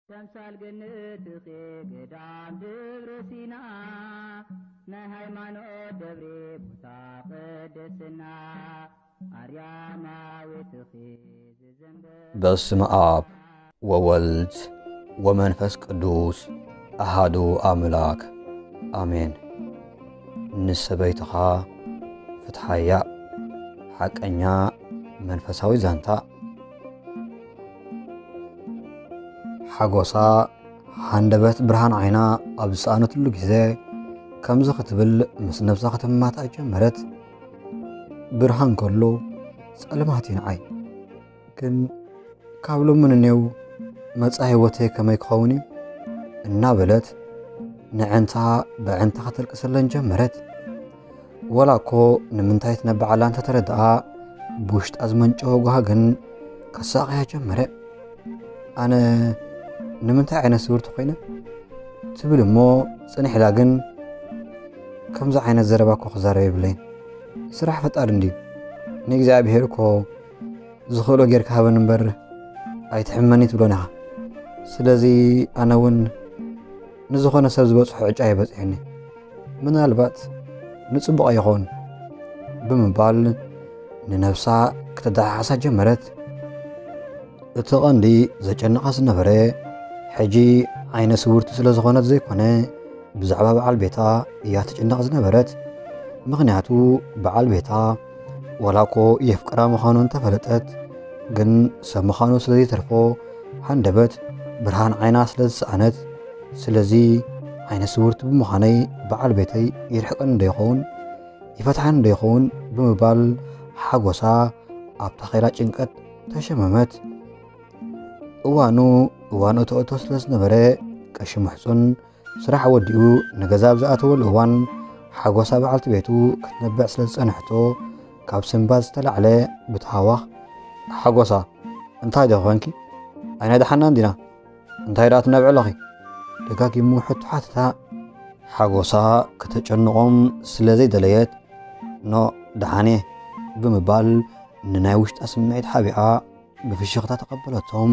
ተምሳል ገነትኺ ገዳም ደብረ ሲና፣ ናይ ሃይማኖት ደብሪ ቦታ ቅድስና፣ ኣርያማዊትኺ ዝዘንበ በስመ ኣብ ወወልድ ወመንፈስ ቅዱስ ኣሃዱ ኣምላክ ኣሜን። ንሰበይትኻ ፍትሓያ። ሓቀኛ መንፈሳዊ ዛንታ። ሓጎሳ ሃንደበት ብርሃን ዓይና ኣብ ዝሰኣነትሉ ግዜ፣ ከምዚ ክትብል ምስ ነብሳ ክትማታእ ጀመረት። ብርሃን ከሎ ጸልማት እዩ ንዓይ። ግን ካብ ሎሚ ንኔው መጻኢ ህይወተይ ከመይ ክኸውን እዩ? እናበለት ንዕንታ ብዕንታ ከተልቅሰለን ጀመረት። ወላ እኮ ንምንታይ ትነብዓላ እንተተረድኣ፣ ብውሽጣ ዝመንጨወ ጓሃ ግን ከሳቕያ ጀመረ። ኣነ ንምንታይ ዓይነት ስውርቲ ኮይነ? ትብል እሞ ጽንሕ ኢላ ግን፣ ከምዚ ዓይነት ዘረባ እኮ ክዛረብ የብለይን። ስራሕ ፈጣሪ እንድዩ። ንእግዚኣብሔር እኮ ዝኽእሎ ጌርካ ሃበኒ እምበር ኣይትሕመኒ ትብሎን ኢኻ። ስለዚ ኣነ እውን ንዝኾነ ሰብ ዝበጽሖ ዕጫ እዩ በጺሑኒ። ምናልባት ንጽቡቕ ኣይኸውን ብምባል ንነብሳ ክተደሓሓሳ ጀመረት። እቲ ቐንዲ ዘጨንቓ ዝነበረ፣ ሕጂ ዓይነ ስውርቲ ስለ ዝኾነት ዘይኮነ፣ ብዛዕባ በዓል ቤታ እያ ትጭነቕ ዝነበረት። ምኽንያቱ በዓል ቤታ ዋላ እኮ የፍቅራ ምዃኑ እንተፈለጠት፣ ግን ሰብ ምዃኑ ስለ ዘይተርፎ፣ ሃንደበት ብርሃን ዓይና ስለ ዝሰኣነት፣ ስለዚ ዓይነ ስውርቲ ብምዃነይ በዓል ቤተይ ይርሕቀኒ ዶ ይኸውን? ይፈትሓኒ ዶ ይኸውን? ብምባል ሓጎሳ ኣብታ ኼላ ጭንቀት ተሸመመት። እዋኑ እዋን እቶ እቶ ስለ ዝነበረ፣ ቀሺ ምሕጹን ስራሕ ወዲኡ ንገዛ ኣብ ዝኣተወሉ እዋን፣ ሓጎሳ በዓልቲ ቤቱ ክትነብዕ ስለ ዝጸንሕቶ፣ ካብ ስንባድ ዝተላዕለ ብተሃዋኽ፣ "ሓጎሳ፣ እንታይ ዶ ኮንኪ? ኣይነድሓናን ዲና? እንታይ ደኣ ትነብዒ ኣለኺ?" ደጋጊሙ ሕቶ ሓተታ። ሓጎሳ ከተጨንቖም ስለ ዘይደለየት፣ "ኖ፣ ደሓን እየ" ብምባል ንናይ ውሽጣ ስምዒት ሓቢኣ ብፍሽኽታ ተቐበለቶም።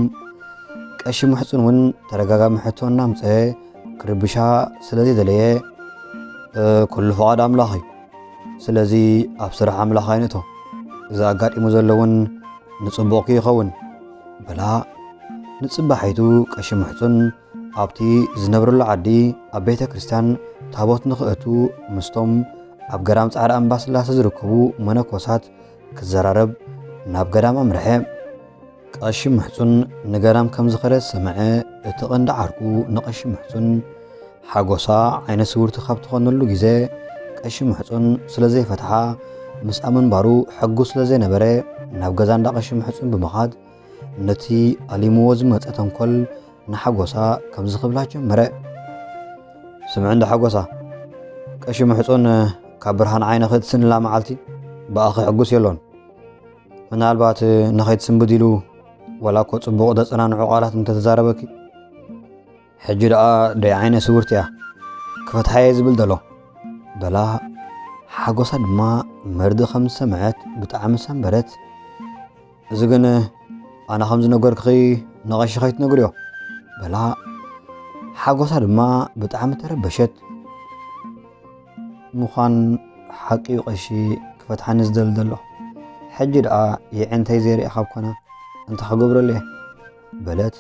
ቀሺ ምሕጹን እውን ተደጋጋሚ ሕቶ እናምጸ ክርብሻ ስለ ዘይደለየ፣ "እ፣ ኩሉ ፍቓድ ኣምላኽ እዩ። ስለዚ ኣብ ስራሕ ኣምላኽ ኣይንእቶ። እዚ ኣጋጢሙ ዘሎ እውን ንጽቡቕ ከይኸውን" በላ። ንጽባሒቱ ቀሺ ምሕጹን ኣብቲ ዝነብረሉ ዓዲ ኣብ ቤተ ክርስቲያን ታቦት ንኽእቱ ምስቶም ኣብ ገዳም ጻዕዳ ኣምባስላሴ ዝርከቡ መነኮሳት ክዘራረብ ናብ ገዳም ኣምርሐ። ቀሺ ምሕጹን ንገዳም ከም ዝኸደ ዝሰምዐ እቲ ቀንዲ ዓርኩ ንቀሺ ምሕጹን፣ ሓጎሳ ዓይነ ስውርቲ ካብ ትኾነሉ ግዜ ቀሺ ምሕጹን ስለ ዘይፈትሓ፣ ምስኣ ምንባሩ ሕጉስ ስለ ዘይነበረ፣ ናብ ገዛ እንዳ ቀሺ ምሕጹን ብምኻድ ነቲ ኣሊምዎ ዝመጸ ተንኮል ንሓጎሳ ከምዚ ክብላ ጀመረ። "ስምዒ እንዳ ሓጎሳ፣ ቀሺ ምሕጹን ካብ ብርሃን ዓይንኺ ትስእንላ መዓልቲ ብኣኺ ሕጉስ የሎን። ምናልባት ንኸይትስንብድ ኢሉ ዋላ እኮ ጽቡቕ ዘጸናንዑ ቃላት እንተተዛረበኪ፣ ሕጂ ደኣ ደይ ዓይነ ስውርቲ እያ፣ ክፈትሓየ ዝብል ዘሎ" በላ። ሓጎሳ ድማ መርድእ ከም ዝሰምዐት ብጣዕሚ ሰንበደት። "እዚ ግን ኣነ ከም ዝነገርክኺ ንቐሺ ከይትነግርዮ" በላ። ሓጎሳ ድማ ብጣዕሚ ተረበሸት። "ምዃን ሓቂ እዩ ቀሺ ክፈትሓኒ ዝደሊ ዘሎ። ሕጂ ደኣ የዕንተይ ዘይርኣ ካብ ኮነ እንታይ ክገብረሉ እየ?" በለት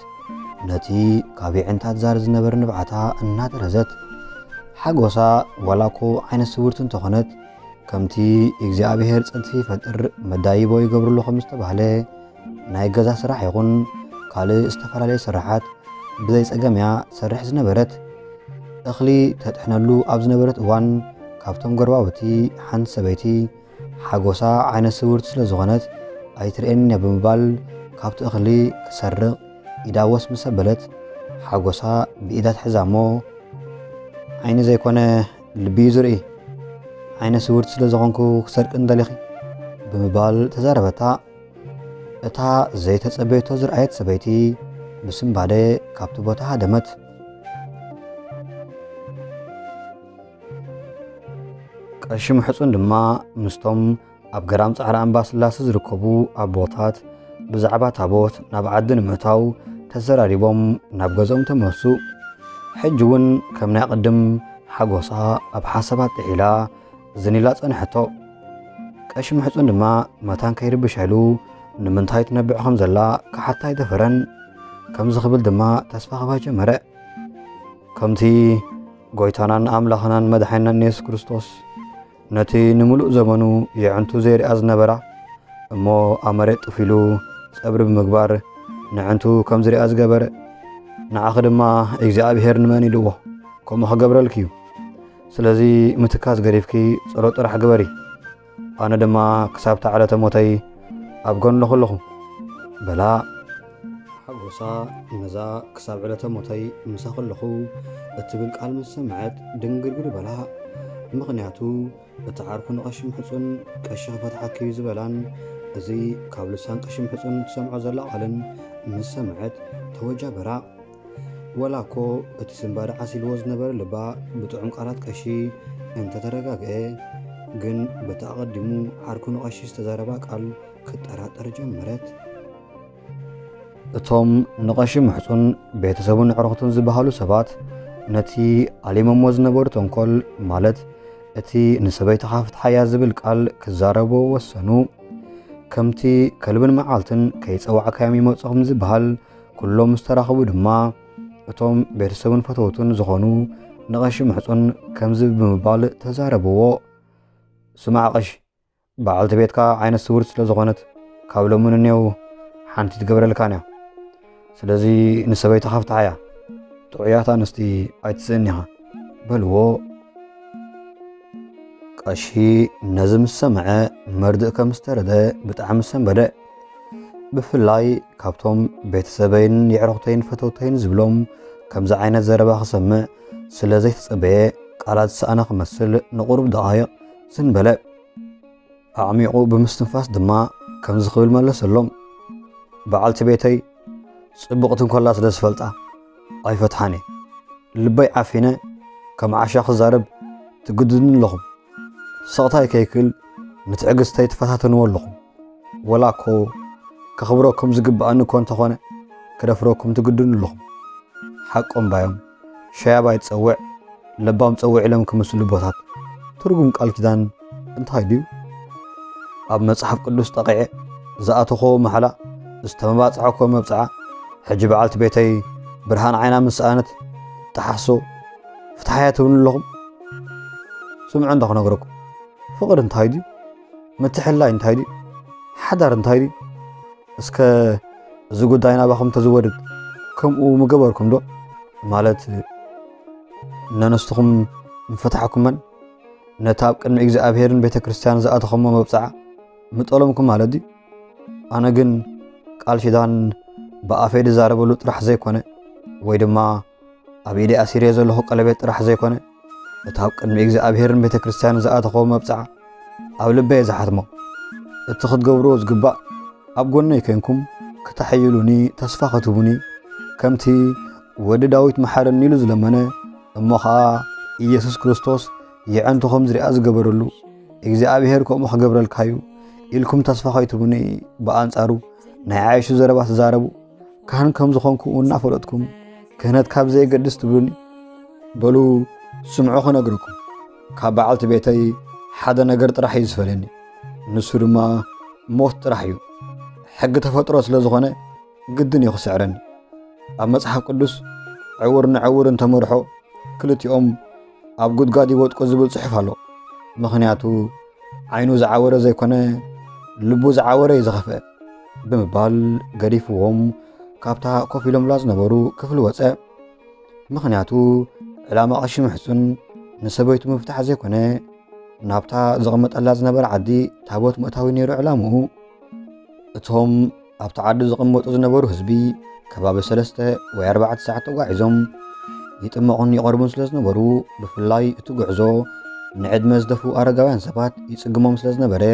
ነቲ ካብ የዕንታ ትዛሪ ዝነበረ ንብዓታ እናጠረዘት። ሓጎሳ ዋላ እኮ ዓይነ ስውርቲ እንተኾነት፣ ከምቲ እግዚኣብሔር ጽድፊ ይፈጥር መዳይቦ ይገብርሉ ከም ዝተባህለ፣ ናይ ገዛ ስራሕ ይኹን ካልእ ዝተፈላለየ ስራሓት ብዘይ ጸገም እያ ትሰርሕ ዝነበረት። እኽሊ ተጥሕነሉ ኣብ ዝነበረት እዋን፣ ካብቶም ጎረባብቲ ሓንቲ ሰበይቲ፣ ሓጎሳ ዓይነ ስውርቲ ስለ ዝኾነት ኣይትርእየንን እያ ብምባል፣ ካብቲ እኽሊ ክትሰርቕ ኢዳ ወስ ምስ ኣበለት፣ ሓጎሳ ብኢዳ ትሕዛ እሞ፣ "ዓይኒ ዘይኮነ ልቢ እዩ ዝርኢ፣ ዓይነ ስውርቲ ስለ ዝኾንኩ ክሰርቅኒ ደሊኺ?" ብምባል ተዛረበታ። እታ ዘይተጸበየቶ ዝረኣየት ሰበይቲ ብስንባደ ካብቲ ቦታ ሃደመት። ቀሺ ምሕጹን ድማ ምስቶም ኣብ ገዳም ጻዕዳ ኣምባስላሴ ዝርከቡ ኣቦታት ብዛዕባ ታቦት ናብ ዓዲ ንምእታው ተዘራሪቦም ናብ ገዝኦም ተመሱ። ሕጂ እውን ከም ናይ ቅድም ሓጎሳ ኣብ ሓሳባት ጥሒላ ዝን ኢላ ጸንሐቶ። ቀሺ ምሕጹን ድማ መታን ከይርብሻ ኢሉ ንምንታይ ትነብዕ ከም ዘላ ክሓታ ኣይደፈረን። ከምዚ ክብል ድማ ተስፋ ክባ ጀመረ። ከምቲ ጎይታናን ኣምላኽናን መድሓኒናን የሱስ ክርስቶስ ነቲ ንምሉእ ዘመኑ የዕንቱ ዘይርኣ ዝነበራ እሞ ኣብ መሬት ጥፍ ኢሉ ጸብሪ ብምግባር ንዕንቱ ከም ዝርኣ ዝገበረ፣ ንዓኺ ድማ እግዚኣብሔር ንመን ኢልዎ ከምኡ ክገብረልኪ እዩ። ስለዚ ምትካዝ ገዲፍኪ ጸሎት ጥራሕ ግበሪ። ኣነ ድማ ክሳብ እታ ዕለተ ሞተይ ኣብ ጎንኺ ኣለኹ በላ። ሓጎሳ ነዛ ክሳብ ዕለተ ሞተይ ምሳኺ ኣለኹ እትብል ቃል ምስ ሰምዐት ድንግርግር በላ። ምኽንያቱ እቲ ዓርኩ ንቐሺ ምሕጹን ቀሺ ክፈትሓኪ እዩ ዝበላን እዚ ካብ ልሳን ቀሺ ምሕጹን ትሰምዖ ዘላ ቃልን ምስ ሰምዐት ተወጃበራ። ወላ እኮ እቲ ስንባደ ዓሲልዎ ዝነበረ ልባ ብጥዑም ቃላት ቀሺ እንተተረጋግአ፣ ግን በቲ ኣቐዲሙ ዓርኩ ንቐሺ ዝተዛረባ ቃል ክጠራጠር ጀመረት። እቶም ንቐሺ ምሕጹን ቤተሰቡን ኣዕሩኽቱን ዝበሃሉ ሰባት ነቲ ኣሊሞሞ ዝነበሩ ተንኮል፣ ማለት እቲ ንሰበይትኻ ፍትሓያ ዝብል ቃል ክዛረብዎ ወሰኑ። ከምቲ ከልብን መዓልትን ከይጸዋዕካዮም ይመጹኹም ዝበሃል፣ ኩሎም ምስ ተራኸቡ ድማ እቶም ቤተሰቡን ፈተውቱን ዝኾኑ ንቐሺ ምሕጹን ከምዚ ብምባል ተዛረብዎ። ስማዕ ቀሺ፣ በዓልቲ ቤትካ ዓይነ ስውርት ስለ ዝኾነት ካብ ሎሚ ንኔው ሓንቲ ትገብረልካን እያ። ስለዚ ንሰበይትኻ ፍትሓያ፣ ጥዑያት ኣንስቲ ኣይትስእን ኢኻ በልዎ። ቀሺ ነዚ ምስ ሰምዐ መርድእ ከም ዝተረደ ብጣዕሚ ሰንበደ። ብፍላይ ካብቶም ቤተሰበይን የዕሩኽተይን ፈተውተይን ዝብሎም ከምዚ ዓይነት ዘረባ ክሰምዕ ስለ ዘይተጸበየ ቃላት ዝሰኣነ ክመስል ንቑሩብ ደቓይቕ ዝን በለ። ኣዕሚቑ ብምስትንፋስ ድማ ከምዚ ክብል መለሰሎም። በዓልቲ ቤተይ ጽቡቕቲ እንኮላ ስለ ዝፈልጣ ኣይፈትሓን እየ። ልበይ ዓፊነ ከም ዓሻ ክዛረብ ትግድዱኒ ኣለኹም። ስቕታይ ከይክእል ንትዕግስተይ ትፈታተንዎ ኣለኹም። ወላ እኮ ከኽብረኩም ዝግብኣኒ እኮ እንተኾነ ክደፍረኩም ትግድዱኒ ኣለኹም። ሓቆም ባዮም ሸያባይ ጸውዕ ለባም ጸውዕ ኢሎም ክምስሉ ቦታት ትርጉም ቃል ኪዳን እንታይ ድዩ? ኣብ መጽሓፍ ቅዱስ ጠቒዐ ዝኣተኾ ማሕላ ዝተመባጽሐኮ መብጽዓ ሕጂ በዓልቲ ቤተይ ብርሃን ዓይና ምስ ሰኣነት ጠሓሶ ፍትሓያ ትብሉ ኣለኹም። ስምዑ እንዳ ክነግረኩም ፍቕሪ እንታይ ድዩ? ምትሕላይ እንታይ ድዩ? ሓዳር እንታይ ድዩ? እስከ እዚ ጉዳይ ናባኹም ተዝወድድ ከምኡ ምገበርኩም ዶ? ማለት ነንስትኹም ምፈታሕኩመን ነቲ ኣብ ቅድሚ እግዚኣብሔርን ቤተ ክርስቲያን ዝኣተኸሞ መብጽዓ ምጠለምኩም ማለት ድዩ? ኣነ ግን ቃል ኪዳን ብኣፈይ ዝዛረበሉ ጥራሕ ዘይኮነ ወይ ድማ ኣብ ኢደይ ኣሲርዮ ዘለኹ ቀለቤት ጥራሕ ዘይኮነ እቲ ኣብ ቅድሚ እግዚኣብሔርን ቤተ ክርስቲያን ዝኣተኸዎ መብጽዓ ኣብ ልበይ ዝሓትሞ እቲ ክትገብርዎ ዝግባእ ኣብ ጎነይ ኮንኩም ክተሐይሉኒ ተስፋ ክትህቡኒ ከምቲ ወዲ ዳዊት መሓረኒ ኢሉ ዝለመነ እሞ ኸኣ ኢየሱስ ክርስቶስ የዕንቱ ከም ዝሪኣ ዝገበረሉ እግዚኣብሔር ከምኡ ክገብረልካ እዩ ኢልኩም ተስፋ ከይትህቡኒ ብኣንጻሩ ናይ ዓይሹ ዘረባ ትዛረቡ ካህን ከም ዝኾንኩ እናፈለጥኩም ክህነት ካብ ዘየገድስ ትብሉኒ በሉ ስምዑ ክነግረኩም ካብ በዓልቲ ቤተይ ሓደ ነገር ጥራሕ እዩ ዝፈልየኒ ንሱ ድማ ሞት ጥራሕ እዩ ሕጊ ተፈጥሮ ስለ ዝኾነ ግድን እዩ ክስዕረኒ ኣብ መጽሓፍ ቅዱስ ዕውር ንዕውር እንተመርሖ ክልቲኦም ኣብ ጉድጓድ ይወድቁ ዝብል ጽሑፍ ኣሎ ምኽንያቱ ዓይኑ ዝዓወረ ዘይኮነ ልቡ ዝዓወረ እዩ ዝኸፍአ ብምባል ገዲፍዎም ካብታ ኮፍ ኢሎምላ ዝነበሩ ክፍሊ ወፀ ምኽንያቱ ዕላማ ቀሺ ምሕፁን ንሰበይቱ ምፍታሕ ዘይኮነ ናብታ ዘቐመጠላ ዝነበረ ዓዲ ታቦት ምእታዊ ነይሩ ዕላምኡ እቶም ኣብቲ ዓዲ ዝቕመጡ ዝነበሩ ህዝቢ ከባቢ ሰለስተ ወይ ኣርባዕተ ሰዓት ተጓዒዞም ይጥመቑን ይቐርቡን ስለ ዝነበሩ ብፍላይ እቲ ጉዕዞ ንዕድመ ዝደፍኡ ኣረጋውያን ሰባት ይጽግሞም ስለ ዝነበረ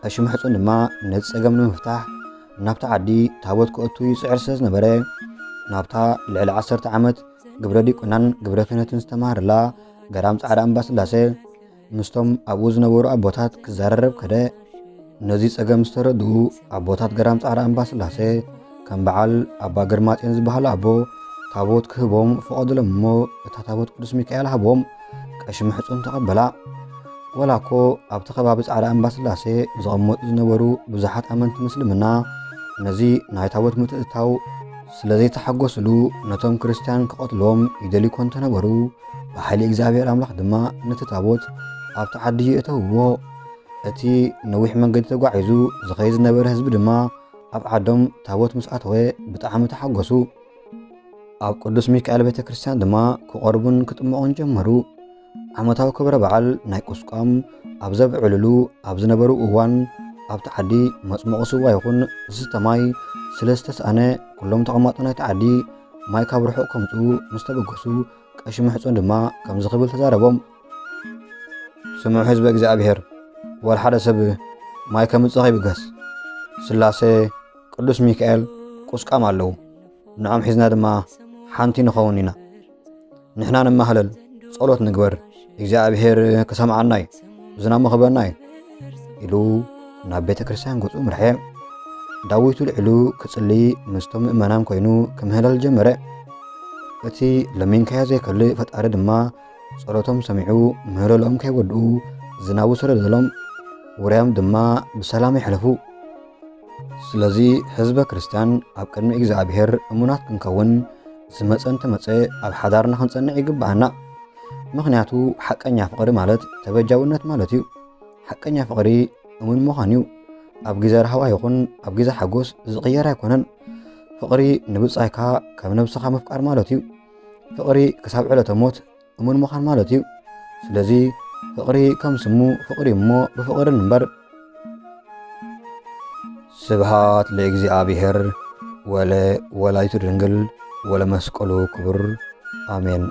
ቀሺ ምሕጹን ድማ ነቲ ጸገም ንምፍታሕ ናብቲ ዓዲ ታቦት ክእቱ ይጽዕር ስለ ዝነበረ ናብታ ልዕሊ ዓሰርተ ዓመት ግብረ ዲቁናን ግብረ ክህነትን ዝተማሃረላ ገዳም ጻዕዳ እምባ ስላሴ ምስቶም ኣብኡ ዝነበሩ ኣቦታት ክዘራረብ ከደ። ነዚ ጸገም ዝተረድኡ ኣቦታት ገዳም ጻዕዳ እምባ ስላሴ ከም በዓል ኣባ ግርማጽዮን ዝበሃሉ ኣቦ ታቦት ክህቦም ፈቐዱሎም እሞ፣ እታ ታቦት ቅዱስ ሚካኤል ሃቦም ቀሺ ምሕጹን ተቐበላ። ወላ እኮ ኣብቲ ከባቢ ጻዕዳ እምባ ስላሴ ዝቐመጡ ዝነበሩ ብዙሓት ኣመንቲ ምስልምና ነዚ ናይ ታቦት ምትእትታው ስለ ዘይተሓጎስሉ፣ ነቶም ክርስትያን ክቐትልዎም ይደልዩ እኳ እንተነበሩ፣ ብሓይሊ እግዚኣብሔር ኣምላኽ ድማ ነቲ ታቦት ኣብቲ ዓዲ የእተውዎ። እቲ ነዊሕ መንገዲ ተጓዒዙ ዝኸይድ ዝነበረ ህዝቢ ድማ ኣብ ዓዶም ታቦት ምስ ኣተወ ብጣዕሚ ተሓጎሱ። ኣብ ቅዱስ ሚካኤል ቤተ ክርስቲያን ድማ ክቐርቡን ክጥመቑን ጀመሩ። ዓመታዊ ክብረ በዓል ናይ ቁስቋም ኣብ ዘብዕልሉ ኣብ ዝነበሩ እዋን፣ ኣብቲ ዓዲ መጽመቑ ስዋ ይኹን ዝስተ ማይ ስለ ዝተስኣነ፣ ኩሎም ተቐማጦ ናይቲ ዓዲ ማይ ካብ ርሑቕ ከምጽኡ ምስ ተበገሱ፣ ቀሺ ምሕጹን ድማ ከምዚ ክብል ተዛረቦም። ስምዑ ህዝበ እግዚኣብሔር፣ ወላ ሓደ ሰብ ማይ ከምጽእ ከይብገስ፣ ስላሴ ቅዱስ ሚካኤል ቁስቋም ኣለዉ። ንዖም ሒዝና ድማ ሓንቲ ንኸውን ኢና። ንሕና ንማህለል፣ ጸሎት ንግበር፣ እግዚኣብሔር ክሰምዓና እዩ፣ ዝናሙ ክህበና እዩ ኢሉ ናብ ቤተ ክርስቲያን ገጹ ምርሐ። ዳዊት ልዒሉ ክጽሊ ምስቶም ምእመናን ኮይኑ ክምህለል ጀመረ። እቲ ለሚንካዮ ዘይከልእ ፈጣሪ ድማ ጸሎቶም ሰሚዑ ምህለልኦም ከይወድኡ ዝናቡ ሰደደሎም። ውራዮም ድማ ብሰላም የሕለፉ። ስለዚ ህዝበ ክርስቲያን ኣብ ቅድሚ እግዚኣብሔር እሙናት ክንከውን ዝመጸ እንተመጸ ኣብ ሓዳርና ክንጸንዕ ይግብኣና። ምኽንያቱ ሓቀኛ ፍቕሪ ማለት ተበጃውነት ማለት እዩ። ሓቀኛ ፍቕሪ እሙን ምዃን እዩ። ኣብ ግዜ ራህዋ ይኹን ኣብ ግዜ ሓጎስ ዝቕየር ኣይኮነን። ፍቕሪ ንብጻይካ ከም ነብስኻ ምፍቃር ማለት እዩ። ፍቕሪ ክሳብ ዕለተ ሞት እሙን ምዃን ማለት እዩ። ስለዚ ፍቕሪ ከም ስሙ ፍቕሪ እሞ ብፍቕሪ ንንበር። ስብሃት ለእግዚኣብሔር ወለ ወላዲቱ ድንግል ወለ መስቀሉ ክቡር ኣሜን።